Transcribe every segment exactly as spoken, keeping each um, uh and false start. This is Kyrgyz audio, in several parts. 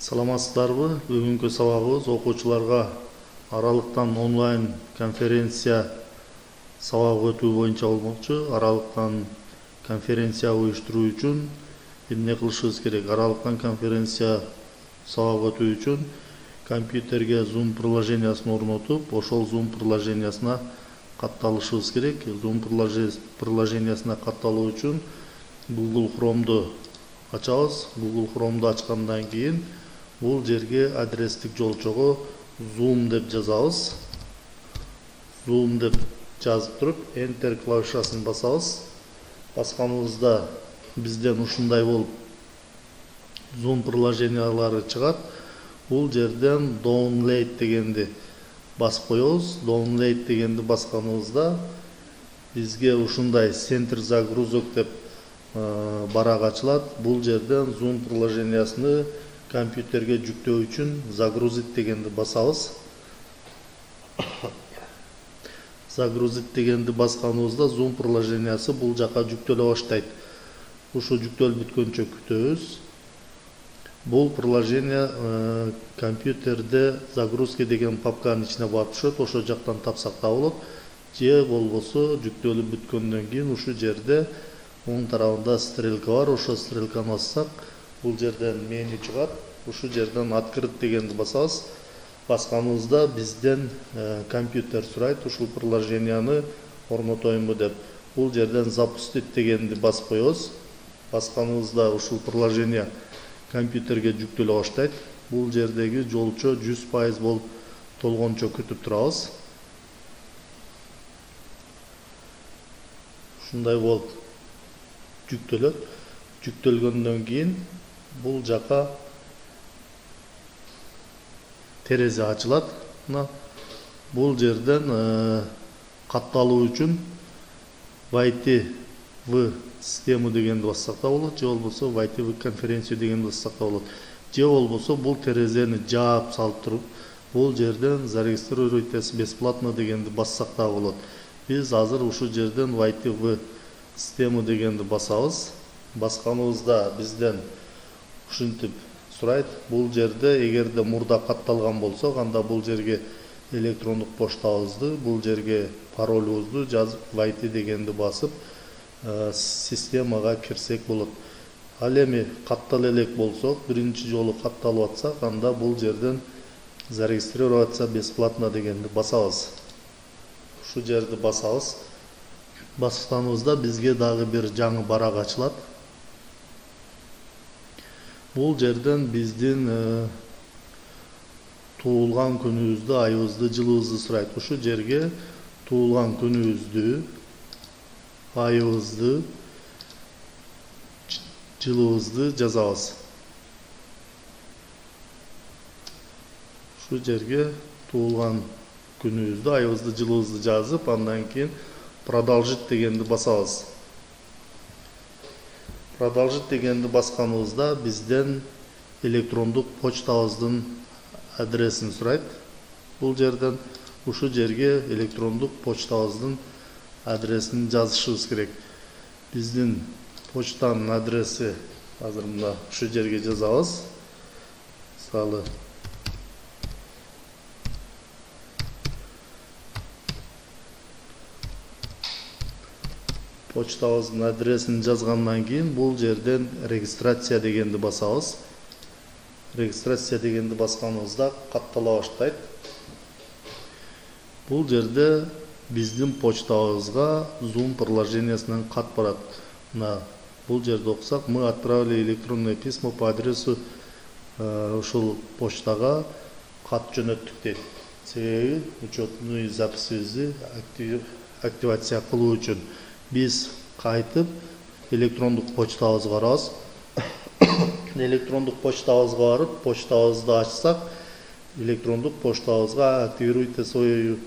Саламатсыздарбы? Бүгүнкү сабагыбыз окуучуларга аралыктан онлайн конференция сабак өтүү боюнча болмокчу. Аралыктан конференция уюштуруу үчүн эмне кылышыбыз керек? Аралыктан конференция сабак өтүү үчүн компьютерге Zoom приложениясын орнотуп, ошол Zoom приложениясына катталышыбыз керек. Zoom приложениясына катталуу үчүн Google Chrome'ду ачабыз. Google Chrome'ду ачкандан кийин бул жерге адрестик жолчого Zoom деп жазабыз. Zoom деп жазып туруп Enter клавишасын басабыз. Басканыбызда бизден ушундай болуп Zoom приложениялары чыгат. Бул жерден Download дегенди басып коебуз. Download дегенди басканыбызда бизге ушундай Center загрузок деп барак ачылат. Бул жерден Zoom приложениясыны компьютерге жүктөө үчүн загрузить дегенди басабыз. Загрузить дегенди басканыбызда Zoom приложениясы бул жака жүктөлө баштайт. Ушу жүктөлүп бүткөнчө күтөбүз. Бул приложение компьютерде загрузки деген папканын ичине барып түшөт. Ошо жактан тапсак да болот. Же болбосо жүктөлүп бүткөндөн кийин ушу жерде оң тарабында стрелка бар. Ошо стрелканы бассак, бул жерден меню чыгат. Ушу жерден открыть дегенди басабыз. Басканыбызда бизден компьютер сурайт, ушул приложенияны орнотоюмбу деп. Бул жерден запустить дегенди басып коебуз. Басканыбызда ушул приложение компьютерге жүктөлө баштайт. Бул жердеги жолчо жүз пайыз болуп толгончо күтүп турабыз. Ушундай болуп жүктөлөт. Жүктөлгөндөн кийин бул жака терезе ачылат. Бул жерден катталуу үчүн войти в систему дегенди бассак да болот, же болбосо войти в конференцию дегенди бассак да болот. Же болбосо бул терезени жаап салып туруп, бул жерден зарегистрируйтесь бесплатно дегенди бассак да болот. Биз азыр ушу жерден войти в систему дегенди басабыз. Басканыбызда бизден ушинтип сурайт. Бул жерде эгерде мурда катталган болсо, анда бул жерге электрондук поштабызды, бул жерге паролубузду жазып, войти дегенди басып, системага кирсек болот. Ал эми каттала элек болсок, биринчи жолу катталып атсак, анда бул жерден зарегистрироваться бесплатно дегенди басабыз. Ушу жерди басабыз. Басканыбызда бизге дагы бир жаңы барак ачылат. Бул жерден биздин туулган күнүбүздү, айыбызды, жылыбызды сурайт. Ушу жерге туулган күнүбүздү, айыбызды, жылыбызды жазабыз. Ушу жерге туулган күнүбүздү, айыбызды, жылыбызды жазып, андан кийин продолжить дегенди басабыз. Продолжить дегенди басканыбызда бизден электрондук почтабыздын адресин сурайт. Бул жерден ушу жерге электрондук почтабыздын адресин жазышыбыз керек. Биздин почтанын адреси азыр мына ушу жерге жазабыз. Мисалы почтабыздын адресин жазгандан кийин бул жерден регистрация дегенди басабыз. Регистрация дегенди басканыбызда каттала баштайт. Бул жерде биздин почтабызга Zoom приложениясынан кат барат. Мына бул жерде окусак, мы отправили электронное письмо по адресу, ушул почтага кат жөнөттүк дейт. Себеби учетный записибизди активация кылуу үчүн биз кайтып электрондук почтабызга барабыз. Электрондук почтабызга барып, почтабызды ачсак, электрондук почтабызга активируйте свою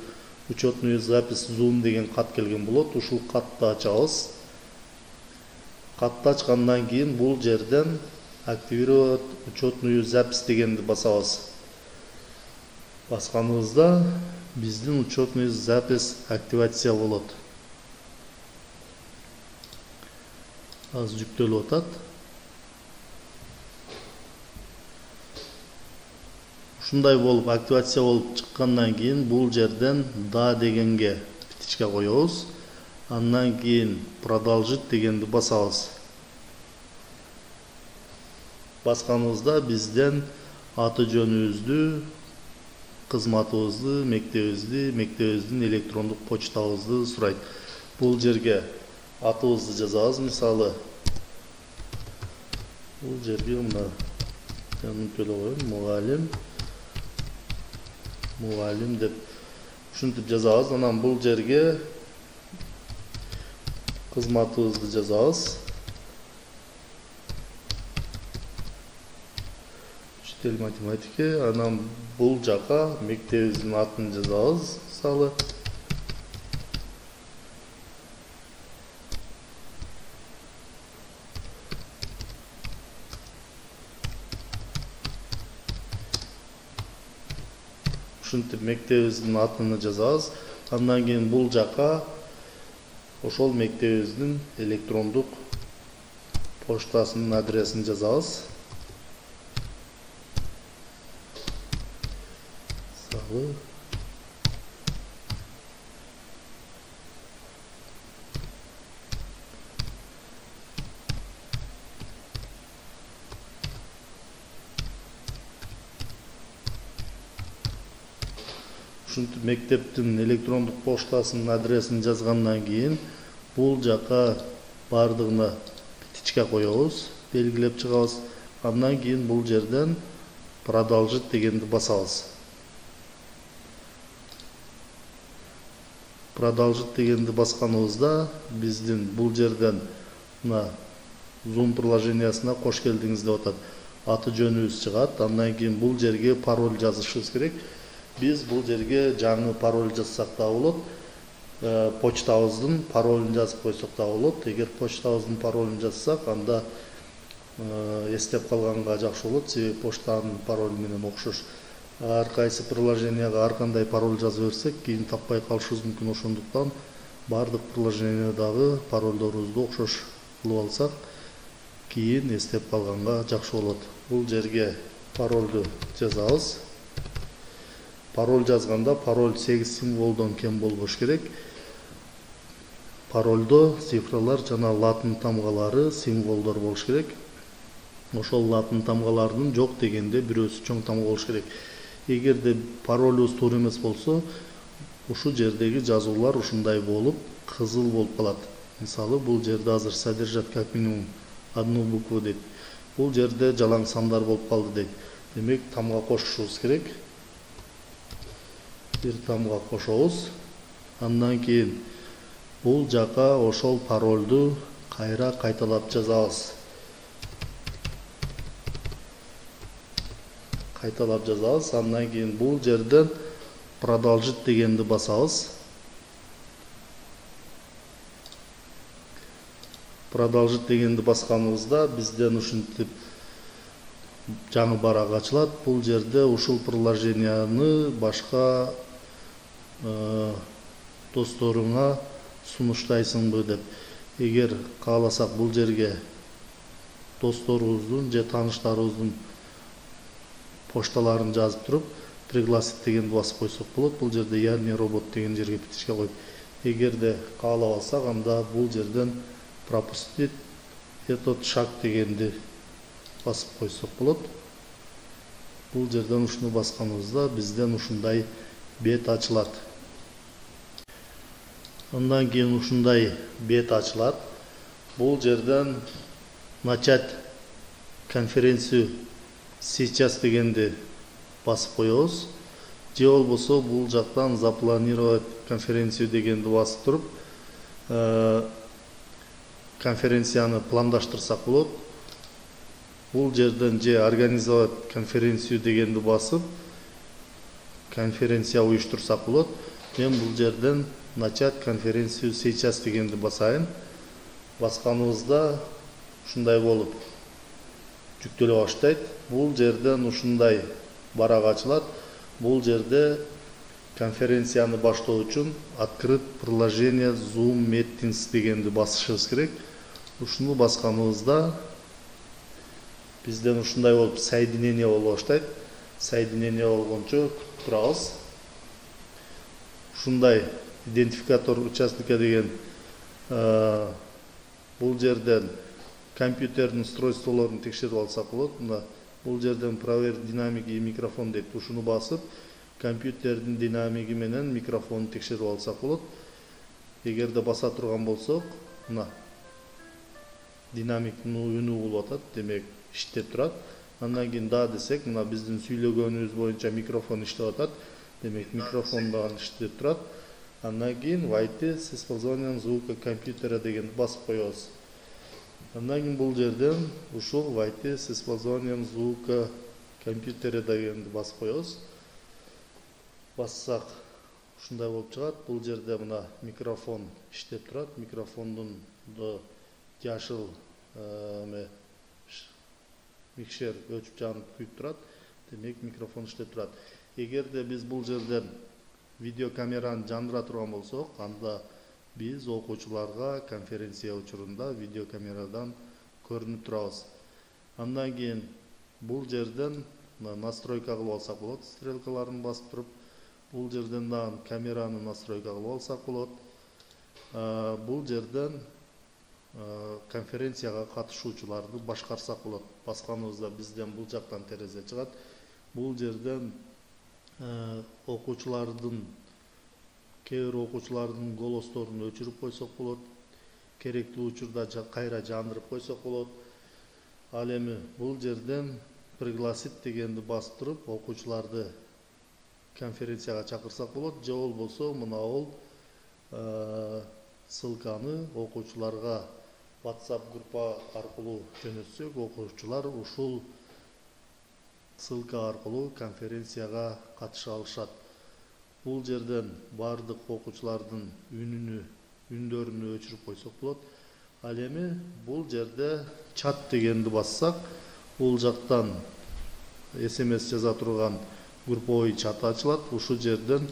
учетную запись Zoom деген кат келген болот. Ушул катты ачабыз. Катты ачкандан кийин бул жерден активировать учетную запись дегенди басабыз. Басканыбызда биздин учетный запись активация болот. Аз жүктөлүп атат. Ушундай болуп активация болуп чыккандан кийин бул жерден да дегенге битичке коебуз. Андан кийин продолжить дегенди басабыз. Басканыбызда бизден аты жөнүбүздү, кызматыбызды, мектебибизди, мектебибиздин электрондук почтабызды сурайт. Бул жерге атыбызды жазабыз. Мисалы, бул жерге мына жаныкөлө коем, мугалим, мугалим деп ушинтип жазабыз. Анан бул жерге кызматыбызды жазабыз. Учитель математики. Анан бул жака мектебибиздин атын жазабыз. Мисалы, ушинтип мектебибиздин атын жазабыз. Андан кийин бул жака ошол мектебибиздин электрондук поштасынын адресин жазабыз. Мисалы, ушинтип мектептин электрондук поштасынын адресин жазгандан кийин бул жака бардыгына битичке коебуз, белгилеп чыгабыз. Андан кийин бул жерден продолжить дегенди басабыз. Продолжить дегенди басканыбызда биздин бул жерден мына Zoom приложениясына кош келдиңиз деп атат. Аты жөнүбүз чыгат. Андан кийин бул жерге пароль жазышыбыз керек. Биз бул жерге жаңы пароль жазсак да болот. Почтабыздын паролун жазып койсок да болот. Эгер почтабыздын паролун жазсак, анда эстеп калганга жакшы болот. Себеби почтанын паролу менен окшош. Ар кайсы приложенияга ар кандай пароль жазып берсек, кийин таппай калышыбыз мүмкүн. Ошондуктан бардык приложениядагы паролдорубузду окшош кылып алсак, кийин эстеп калганга жакшы болот. Бул жерге паролду жазабыз. Пароль жазганда пароль сегиз символдон кем болбош керек. Парольдо цифралар жана латын тамгалары, символдор болуш керек. Ошол латын тамгалардын жок дегенде бирөөсү чоң тамга болуш керек. Эгерде паролубуз туура эмес болсо, ушул жердеги жазуулар ушундай болуп, кызыл болуп калат. Мисалы, бул жерде азыр содержать как минимум одну букву дейт. Бул жерде жалаң сандар болуп калды дейт. Демек, тамга кошушубуз керек. Бир тамга кошобуз. Андан кийин бул жака ошол паролду кайра кайталап жазабыз. Кайталап жазабыз. Андан кийин бул жерден продолжить дегенди басабыз. Продолжить дегенди басканыбызда бизден ушинтип жаңы барак ачылат. Бул жерде ушул приложенияны башка досторуңа сунуштайсыңбы деп. Эгер кааласак бул жерге досторубуздун же тааныштарыбыздын пошталарын жазып туруп, пригласить дегенди басып койсок болот. Бул жерде яғни робот деген жерге битишке коюп. Эгерде каалабасак, анда бул жерден пропустить этот шаг дегенди басып койсок болот. Бул жерден ушуну басканыбызда бизден ушундай бет ачылат. Андан кийин ушундай бет ачылат. Бул жерден начать конференцию сейчас дегенди басып коебуз. Же болбосо бул жактан запланировать конференцию дегенди басып туруп, конференцияны пландаштырсак болот. Бул жерден же организовать конференцию дегенди басып, конференция уюштурсак болот. Мен бул жерден начать конференцию сейчас дегенди басайын. Басканыбызда ушундай болуп жүктөлө баштайт. Бул жерден ушундай барак ачылат. Бул жерде конференцияны баштоо үчүн открыть приложение Zoom Meetings дегенди басышыбыз керек. Ушуну басканыбызда бизден ушундай болуп соединение болуп баштайт. соединение болгончо күтүп турабыз. Ушундай идентификатор участка деген бул жерден компьютердин устройстволорун текшерип алсак болот. Мына бул жерден проверь динамики микрофон дейт. Ушуну басып, компьютердин динамиги менен микрофонду текшерип алсак болот. Эгерде баса турган болсок, мына динамиктин үнү болуп атат, демек иштеп турат. Андан кийин да десек, мына биздин сүйлөгөнүбүз боюнча микрофон иштеп атат. Демек микрофон дагы иштеп турат. Андан кийин войти с использованием звука компьютера дегенди басып коебуз. Андан кийин бул жерден ушул войти с использованием звука компьютера дегенди басып коебуз. Бассак ушундай болуп чыгат. Бул жерде мына микрофон иштеп турат. Микрофондун жашыл эме микшер өчүп жанып күйүп турат. Демек микрофон иштеп турат. Эгерде биз бул жерден видеокамераны жандыра турган болсок, анда биз окуучуларга конференция учурунда видеокамерадан көрүнүп турабыз. Андан кийин бул жерден настройка кылып алсак болот, стрелкаларын басып туруп, бул жерден дагы камераны настройка кылып алсак болот. Бул жерден конференцияга катышуучуларды башкарсак болот. Басканыбызда бизден бул жактан терезе чыгат. Бул жерден окуучулардын кээ бир окуучулардын голосторун өчүрүп койсок болот. Керектүү учурда кайра жандырып койсок болот. Ал эми бул жерден пригласить дегенди басып туруп, окуучуларды конференцияга чакырсак болот. Же болбосо мына ол ссылканы окуучуларга WhatsApp группа аркылуу жөнөтсөк, окуучулар ушул ссылка аркылуу конференцияга катыша алышат. Бул жерден бардык окуучулардын үнүнү, үндөрүнү өчүрүп койсок болот. Ал эми бул жерде чат дегенди бассак, бул жактан эс эм эс жаза турган групповой чат ачылат. Ушул жерден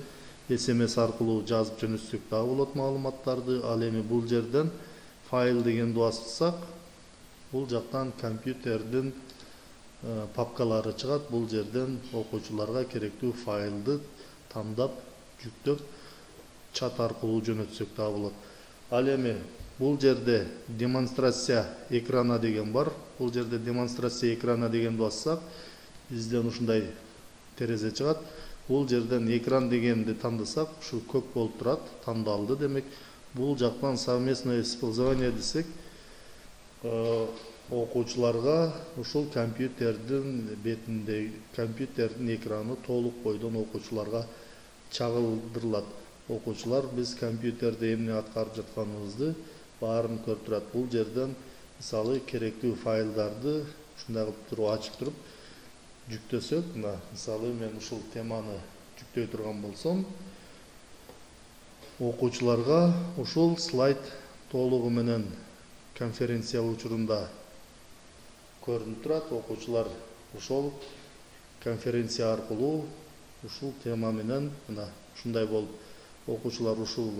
эс эм эс аркылуу жазып жөнөтсөк дагы болот маалыматтарды. Ал эми бул жерден файл дегенди бассак, бул жактан компьютердин папкалары чыгат. Бул жерден окуучуларга керектүү файлды тандап, жүктөп, чат аркылуу жөнөтсөк дагы болот. Ал эми бул жерде демонстрация экрана деген бар. Бул жерде демонстрация экрана дегенди бассак, бизден ушундай терезе чыгат. Бул жерден экран дегенди тандасак, ушу көк болуп турат, тандалды. Демек, бул жактан совместное использование десек, окуучуларга ушул компьютердин бетинде, компьютердин экраны толук бойдон окуучуларга чагылдырылат. Окуучулар биз компьютерде эмне аткарып жатканыбызды баарын көрүп турат. Бул жерден мисалы керектүү файлдарды ушундай кылып туруп ачып туруп жүктөсөк, мына мисалы мен ушул теманы жүктөй турган болсом, окуучуларга ушул слайд толугу менен конференция учурунда көрүнүп турат. Окуучулар ошол конференция аркылуу ушул тема менен мына ушундай болуп, окуучулар ушул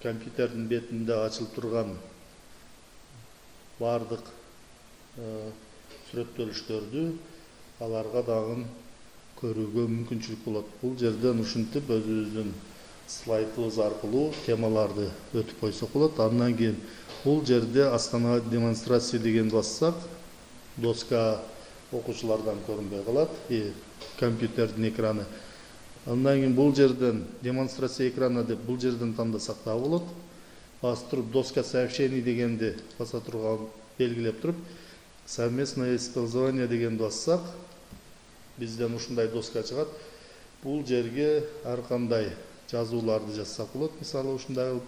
компьютердин бетинде ачылып турган бардык сүрөттөлүштөрдү аларга дагы көрүүгө мүмкүнчүлүк болот. Бул жерден ушинтип өзүбүздүн слайдыбыз аркылуу темаларды өтүп койсок болот. Андан кийин бул жерде остановить демонстрация дегенди бассак, доска окуучулардан көрүнбөй калат, и компьютердин экраны. Андан кийин бул жерден демонстрация экраны деп бул жерден тандасак да болот. Басып туруп доска сообщений дегенди баса турган белгилеп туруп, совместное использование дегенди бассак, бизден ушундай доска чыгат. Бул жерге ар кандай жазууларды жазсак болот. Мисалы ушундай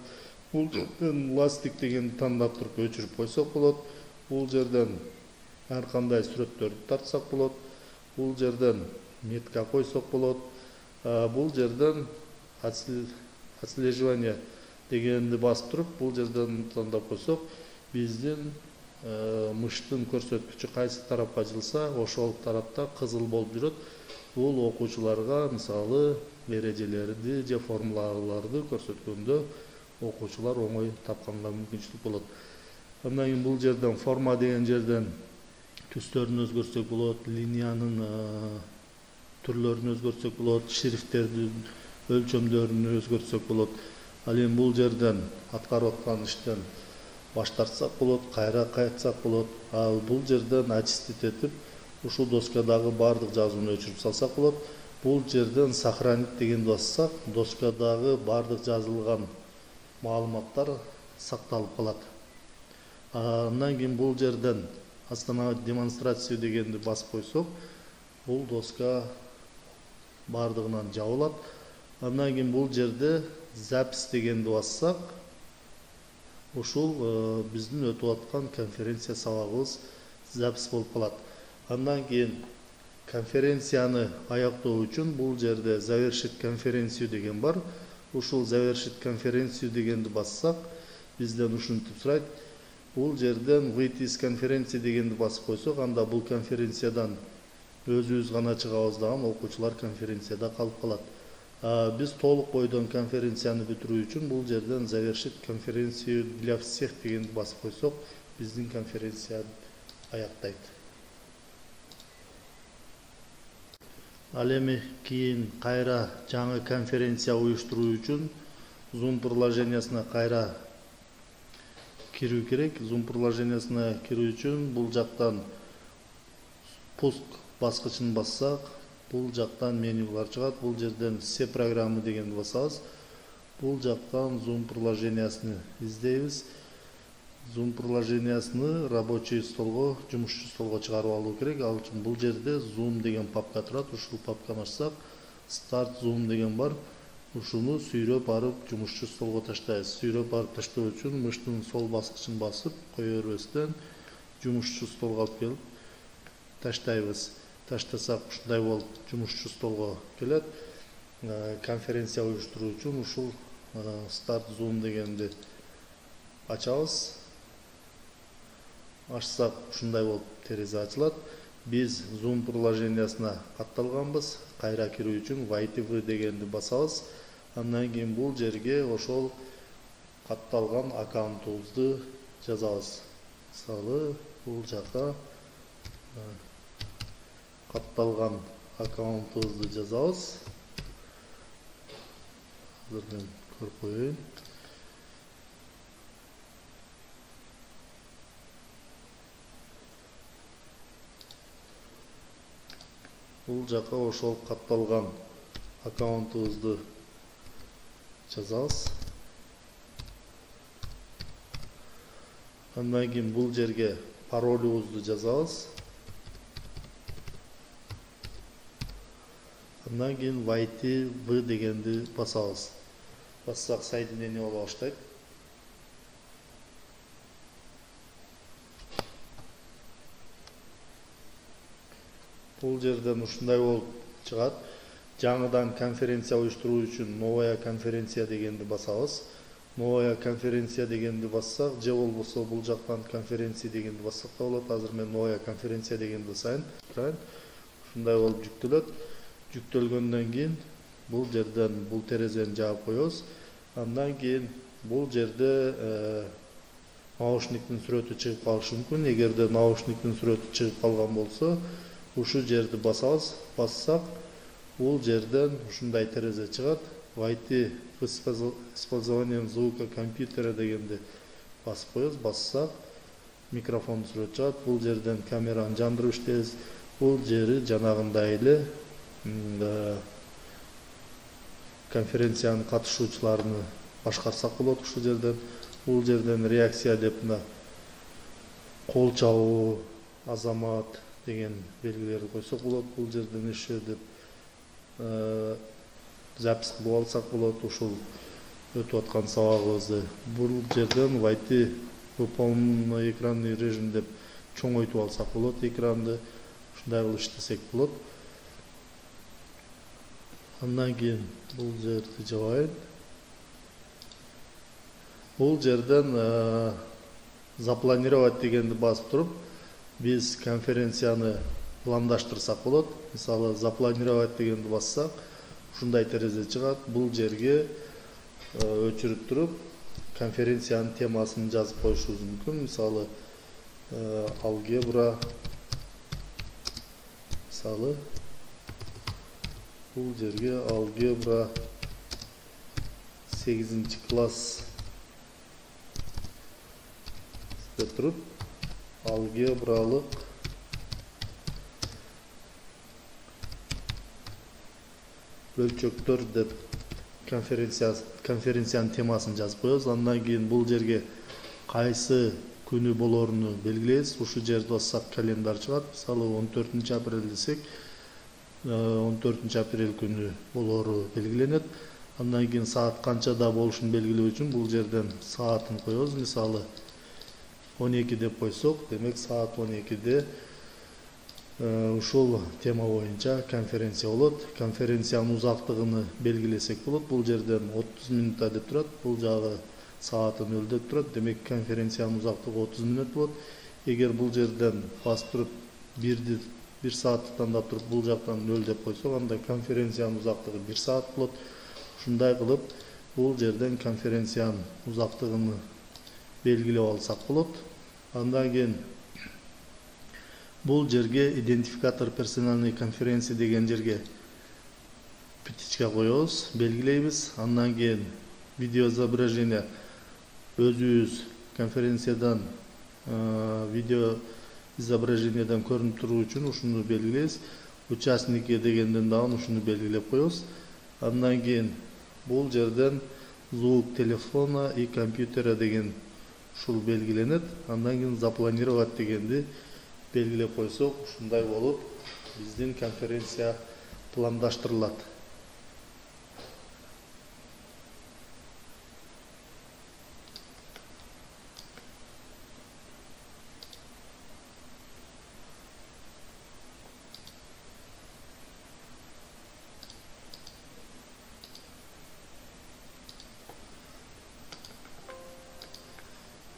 бул жерден ластик дегенди тандап туруп өчүрүп койсок болот. Бул жерден ар кандай сүрөттөрдү тартсак болот. Бул жерден метка койсок болот. Бул жерден отслеживание дегенди басып туруп, бул жерден тандап койсок, биздин мыштын көрсөткүчү кайсы тарапка жылса, ошол тарапта кызыл болуп жүрөт. Бул окуучуларга мисалы эрежелерди же формулаларды көрсөткөндө окуучулар оңой тапканга мүмкүнчүлүк болот. Андан кийин бул жерден форма деген жерден түстөрүн өзгөртсөк болот, линиянын түрлөрүн өзгөртсөк болот, шрифттердин өлчөмдөрүн өзгөртсөк болот. Ал эми бул жерден аткарып аткан иштен баш тартсак болот, кайра кайтсак болот. Ал бул жерден очистить этип, ушул доскадагы бардык жазууну өчүрүп салсак болот. Бул жерден сохранить дегенди бассак, доскадагы бардык жазылган маалыматтар сакталып калат. Андан кийин бул жерден остановить демонстрацию дегенди басып койсок, бул доска бардыгынан жабылат. Андан кийин бул жерде запись дегенди бассак, ушул биздин өтүп аткан конференция сабагыбыз запись болуп калат. Андан кийин конференцияны аяктоо үчүн бул жерде завершить конференцию деген бар. Ушул завершить конференцию дегенди бассак, бизден ушинтип сурайт. Бул жерден выйти из конференции дегенди басып койсок, анда бул конференциядан өзүбүз гана чыгабыз дагы, окуучулар конференцияда калып калат. Биз толук бойдон конференцияны бүтүрүү үчүн бул жерден завершить конференцию для всех дегенди басып койсок, биздин конференция аяктайт. Ал эми кийин кайра жаңы конференция уюштуруу үчүн Zoom приложениясына кайра кирүү керек. Zoom приложениясына кирүү үчүн бул жактан пуск баскычын бассак, бул жактан менюлар чыгат. Бул жерден все программы дегенди басабыз. Бул жактан Zoom приложениясын издейбиз. Zoom приложениясыны рабочий столго, жумушчу столго чыгарып алуу керек. Ал үчүн бул жерде Zoom деген папка турат. Ушул папканы ачсак, Start Zoom деген бар. Ушуну сүйрөп барып жумушчу столго таштайбыз. Сүйрөп барып таштоо үчүн мыштын сол баскычын басып, кое бербестен жумушчу столго алып келип таштайбыз. Таштасак ушундай болуп жумушчу столго келет. Конференция уюштуруу үчүн ушул Start Zoom дегенди ачабыз. Ачсак ушундай болуп терезе ачылат. Биз Zoom приложениясына катталганбыз. Кайра кирүү үчүн войти в дегенди басабыз. Андан кийин бул жерге ошол катталган аккаунтубузду жазабыз. Мисалы, бул жака катталган аккаунтубузду жазабыз. Азыр көрүп коеюн. Бул жака ошол катталган аккаунтубузду жазабыз. Андан кийин бул жерге паролубузду жазабыз. Андан кийин войти в дегенди басабыз. Бассак соединение боло баштайт. Бул жерден ушундай болуп чыгат. Жаңыдан конференция уюштуруу үчүн новая конференция дегенди басабыз. Новая конференция дегенди бассак, же болбосо бул жактан конференция дегенди бассак да болот. Азыр мен новая конференция дегенди басайын. Ушундай болуп жүктөлөт. Жүктөлгөндөн кийин бул жерден бул терезени жаап коебуз. Андан кийин бул жерде наушниктин сүрөтү чыгып калышы мүмкүн. Эгерде наушниктин сүрөтү чыгып калган болсо, ушу жерди басабыз. Бассак, бул жерден ушундай терезе чыгат. Войти в использованием звука компьютера дегенди басып коебуз. Бассак, микрофон сүрөт чыгат. Бул жерден камераны жандырып иштейбиз. Бул жери жанагындай эле конференциянын катышуучуларыны башкарсак болот. Ушул жерден, бул жерден реакция деп мына кол чабуу, азамат деген белгилерди койсок болот. Бул жерден еще деп запись кылып алсак болот. Ушул өтүп аткан сабагыбызды бул жерден войти в полный экранный режим деп чоңойтуп алсак болот. Экранды ушундай кылып иштесек болот. Андан кийин бул жерди жабайын. Бул жерден запланировать дегенди басып туруп, биз конференцияны пландаштырсак болот. Мисалы, запланировать дегенди бассак, ушундай терезе чыгат. Бул жерге өчүрүп туруп, конференциянын темасын жазып коюшубуз мүмкүн. Мисалы, алгебра мисалы бул жерге алгебра сегизинчи класс деп туруп алгебралык бөлчөктөр деп конференция конференциянын темасын жазып коебуз. Андан кийин бул жерге кайсы күнү болоруну белгилейбиз. Ушул жерди бассак календарь чыгат. Мисалы он төртүнчү апрель десек, он төртүнчү апрель күнү болору белгиленет. Андан кийин саат канчада болушун белгилөө үчүн бул жерден саатын коебуз. Мисалы он эки деп койсок, демек саат он экиде ушул тема боюнча конференция болот. Конференциянын узактыгын белгилесек болот. Бул жерден отуз минутта деп турат. Бул жагы сааты нөл деп турат. Демек конференциянын узактыгы отуз мүнөт болот. Эгер бул жерден басып туруп бирди бир саатты тандап туруп бул жактан нөл деп койсок, анда конференциянын узактыгы бир саат болот. Ушундай кылып бул жерден конференциянын узактыгын белгилеп алсак болот. Андан кийин бул жерге идентификатор персональной конференции деген жерге птичка коебуз, белгилейбиз. Андан кийин видео изображение өзүбүз конференциядан видео изображениеден көрүнүп туруу үчүн ушуну белгилейбиз. Участники дегенден дагы ушуну белгилеп коебуз. Андан кийин бул жерден звук телефона и компьютера деген ушул белгиленет. Андан кийин запланировать дегенди белгилеп койсок, ушундай болуп биздин конференция пландаштырылат.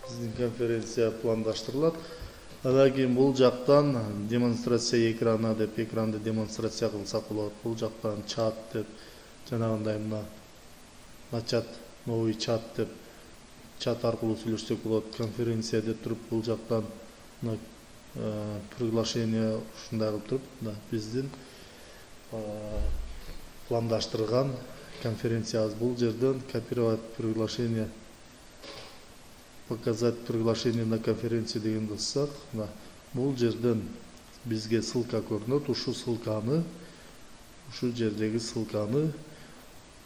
Биздин конференция пландаштырылат. Андан кийин бул жактан демонстрация экрана деп экранды демонстрация кылсак болот. Бул жактан чат деп жанагындай мына начат новый чат деп чат аркылуу сүйлөшсөк болот. Конференция деп туруп бул жактан мына приглашение ушундай кылып туруп мына биздин пландаштырган конференциябыз. Бул жерден копировать приглашение, показать приглашение на конференцию деген кылсак, бул жерден бизге ссылка көрүнөт. Ушул ссылканы, ушул жердеги ссылканы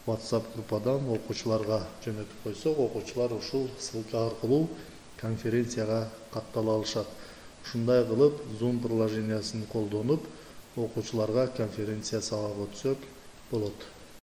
WhatsApp группадан окуучуларга жөнөтүп койсок, окуучулар ушул ссылка аркылуу конференцияга каттала алышат. Ушундай кылып Zoom приложениясын колдонуп окуучуларга конференция сабак өтсөк болот.